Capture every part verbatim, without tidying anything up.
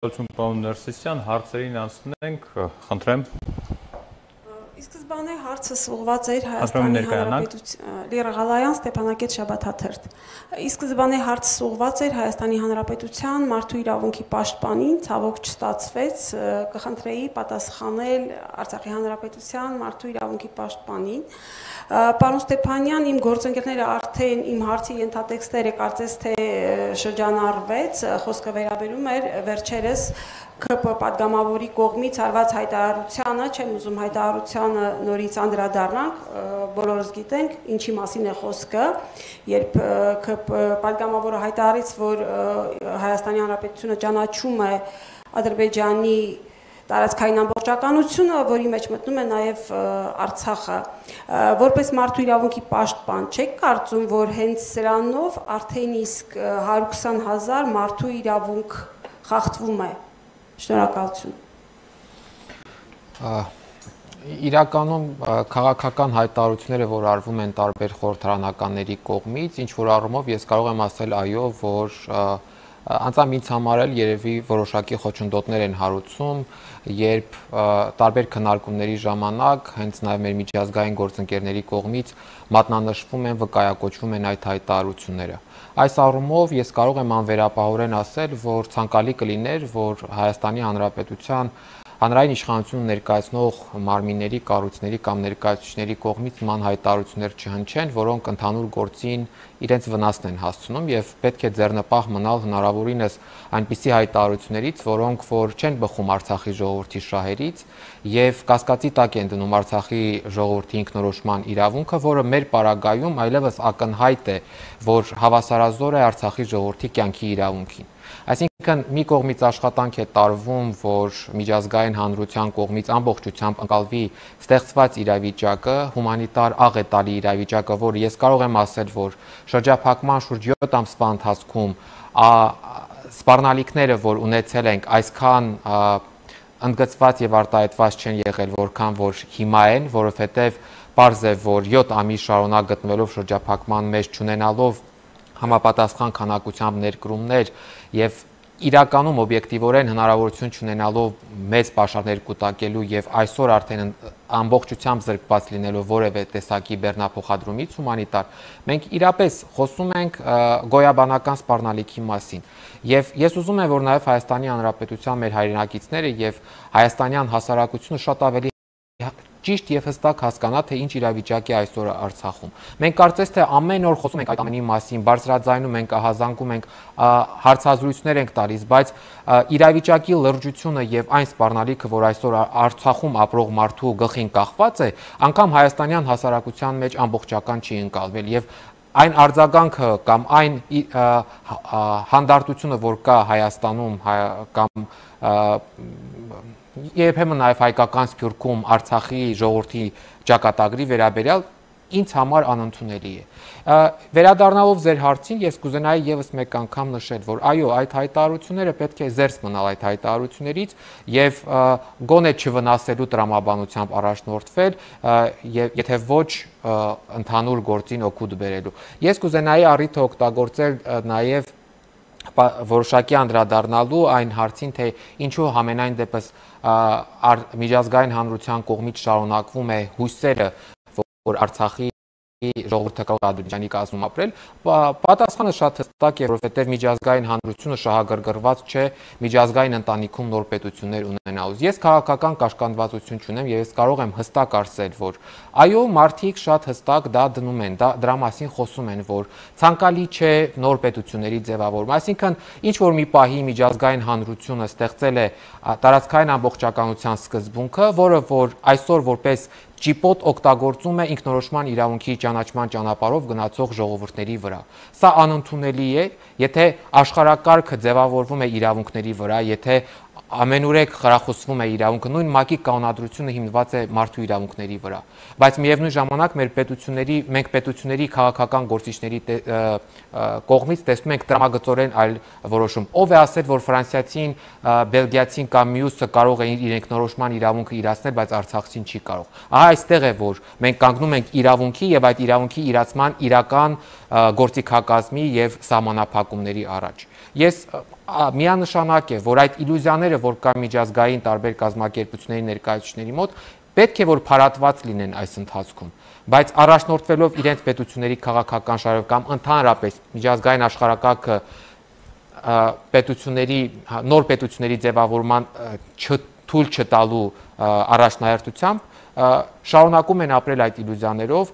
Շնորհակալություն պարոն Ներսիսյան, հարցերին անցնենք, խնդրեմ։ Ի սկզբանե հարցս ուղղված էր Հայաստանի Հանրապետության Լիռ Ղալայան, Ստեփանակերտ Շաբաթաթերթ։ Ի սկզբանե հարցս ուղղված էր Հայաստանի Հանրապետության մարդու իրավունքի պաշտպանին, ցավոք չստացվեց, կխնդրեի պատասխանել Արցախի Հանրապետության մարդու իրավունքի պաշտպանին։ Պարոն Ստեփանյան, իմ գործընկերները արդեն իմ հարցի ենթատեքստերը կարծես թե շրջանառվեց, խոսքը վերաբերում էր վերջերս ՔՊ պատգամավորի կողմից արված հայտարարությանը, չեմ ուզում հայտարարությանը նորից անդրադառնանք, բոլորս գիտենք ինչի մասին է խոսքը, երբ ՔՊ պատգամավորը հայտարարեց, որ Հայաստանի Հանրապետությունը ճանաչում է Ադրբեջանի տարածքային ամբողջականությունը, որի մեջ մտնում է նաև Արցախը, որպես մարդու իրավունքի պաշտպան, չեք կարծում, որ հենց սրանով արդեն իսկ հարյուր քսան հազար մարդու իրավունք խախտվում է։ Շնորհակալություն։ Իրականում քաղաքական հայտարարությունները, որ արվում են տարբեր խորհրդարանականների կողմից, ինչ որ առումով ես կարող եմ ասել այո, որ անձամբ ինձ համար էլ երևի որոշակի խոչընդոտներ են հարուցում, երբ տարբեր քննարկումների ժամանակ հենց նաև մեր միջազգային գործընկերների կողմից մատնանշվում են, վկայակոչվում են այդ հայտարարությունները։ Այս առումով ես կարող եմ անվերապահորեն ասել, որ ցանկալի կլիներ, որ Հայաստանի Հանրապետության հանրային իշխանությունը ներկայացնող մարմինների, կառույցների կամ ներկայացուցիչների կողմից ման հայտարարություններ չհնչեն, որոնք ընդհանուր գործին իրենց վնասն են հասցնում եւ պետք է ձեռնպահ մնալ հնարավորինս այնպիսի հայտարարություններից, որոնք որ չեն բխում Արցախի ժողովրդի շահերից եւ կասկածի տակ են դնում Արցախի ժողովրդի ինքնորոշման իրավունքը, որը մեր պարագայում այլևս ակնհայտ է, որ հավասարազոր է Արցախի ժողովրդի կյանքի իրավունքին։ Այսինքն մի կողմից աշխատանք է տարվում, որ միջազգային հանրության կողմից ամբողջությամբ ընկալվի ստեղծված իրավիճակը, հումանիտար աղ է տալի իրավիճակը, որ ես կարող եմ ասել, որ շրջափակման շուրջ յոթ ամսվա ընթացքում սպառնալիքները, որ ունեցել ենք, այսքան ընդգծված եւ արտահայտված չեն եղել, որքան որ հիմա են, որովհետեւ պարզ է, որ յոթ ամիս շարունակ գտնվելով շրջափակման մեջ չունենալով համապատասխան քանակությամբ ներկրումներ եւ իրականում օբյեկտիվորեն հնարավորություն չունենալով մեծ պաշարներ կուտակելու եւ այսօր արդեն ամբողջությամբ զրկված լինելով որևէ տեսակի բեռնափոխադրումից հումանիտար, մենք իրապես խոսում ենք գոյաբանական սպառնալիքի մասին։ Եվ ես ուզում եմ, որ նաեւ Հայաստանի Հանրապետության մեր հայրենակիցները եւ հայաստանյան հասարակությունը շատ ավելի ճիշտ եւ հստակ հասկանա, թե ինչ իրավիճակ է այսօր Արցախում։ Մենք կարծես թե ամեն օր խոսում ենք այդ ամենի մասին, բարձրաձայնում ենք, ահազանգում ենք, հարցազրույցներ ենք տալիս, բայց իրավիճակի լրջությունը եւ այն սպառնալիքը, որ այսօր Արցախում ապրող մարդու գլխին կախված է, անգամ հայաստանյան հասարակության մեջ ամբողջական չի ընկալվել եւ այն արձագանքը կամ այն հանդարտությունը, որ կա Հայաստանում կամ երբեմն նաև հայկական սփյուռքում Արցախի ժողովրդի ճակատագրի վերաբերյալ ինձ համար անընդունելի է։ Վերադառնալով ձեր հարցին, ես կուզենայի եւս մեկ անգամ նշել, որ այո, այդ հայտարարությունները պետք է զերծ մնալ այդ հայտարարություններից եւ գոնե չվնասելու տրամաբանությամբ առաջնորդվել, եթե ոչ ընդհանուր գործին օգուտ բերելու։ Ես կուզենայի առիթը օգտագործել նաեւ որոշակի անդրադառնալու այն հարցին, թե ինչու համենայն դեպս միջազգային հանրության կողմից շարունակվում է հույսերը, որ Արցախի ժողովուրդը կարող է Ադրբեջանի կազմում ապրել, պատասխանը շատ հստակ է, որովհետև միջազգային հանրությունը շահագրգռված չէ միջազգային ընտանիքում նոր պետություններ ունենալուց։ Ես քաղաքական կաշկանդվածություն չունեմ եւ ես կարող եմ հստակ ասել, որ այո, մարդիկ շատ հստակ դա դնում են, դա դրա մասին խոսում են, որ ցանկալի չէ նոր պետությունների ձևավորումը։ Այսինքն, ինչ որ մի պահի միջազգային հանրությունը ստեղծել է տարածքային ամբողջականության սկզբունքը, որը որ այսօր որպես ճիպոտ օգտագործում է ինքնորոշման իրավունքի ճանաչման ճանապարհով գնացող ժողովուրդների վրա։ Սա անընդունելի է, եթե աշխարհակարգը ձևավորվում է իրավունքների վրա, եթե ամենուրեք խրախուսվում է իրավունքը, նույն ՄԱԿ-ի կանոնադրությունը հիմնված է մարդու իրավունքների վրա։ Բայց միևնույն ժամանակ մեր պետությունների, մենք պետությունների քաղաքական գործիչների կողմից տեսնում ենք տրամագծորեն այլ որոշում։ Ով է ասել, որ ֆրանսիացին, բելգիացին կամ մյուսը կարող է իր ինքնորոշման իրավունքը իրացնել, բայց արցախցին չի կարող։ Ահա այստեղ է, որ մենք կանգնում ենք իրավունքի եւ այդ իրավունքի իրացման իրական գործիքակազմի եւ սահմանափակումների առաջ։ Ես միանշանակ է, որ այդ իլյուզիաները, որ կա միջազգային տարբեր կազմակերպությունների ներկայացուցիչների մոտ, պետք է որ փարատված լինեն այս ընթացքում, բայց առաջնորդվելով իրենց պետությունների քաղաքական շարժով կամ ընդհանրապես միջազգային աշխարհակարգը պետությունների նոր պետությունների ձևավորման թույլ չտալու առաջնահերթությամբ շարունակում են ապրել այդ իլյուզիաներով,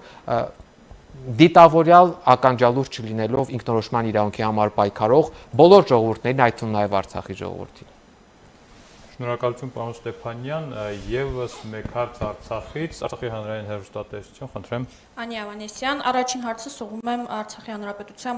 դիտավորյալ ականջալուր չլինելով ինքնորոշման իրավունքի համար պայքարող բոլոր ժողովուրդներին, այդ թվում նաև Արցախի ժողովրդին։ Շնորհակալություն պարոն Ստեփանյան, եւս մեկ հարց Արցախից, Արցախի հանրային հեռուստատեսություն, խնդրեմ։ Անի Ավանեսյան, առաջին հարցս ուղղում եմ Արցախի հանրապետության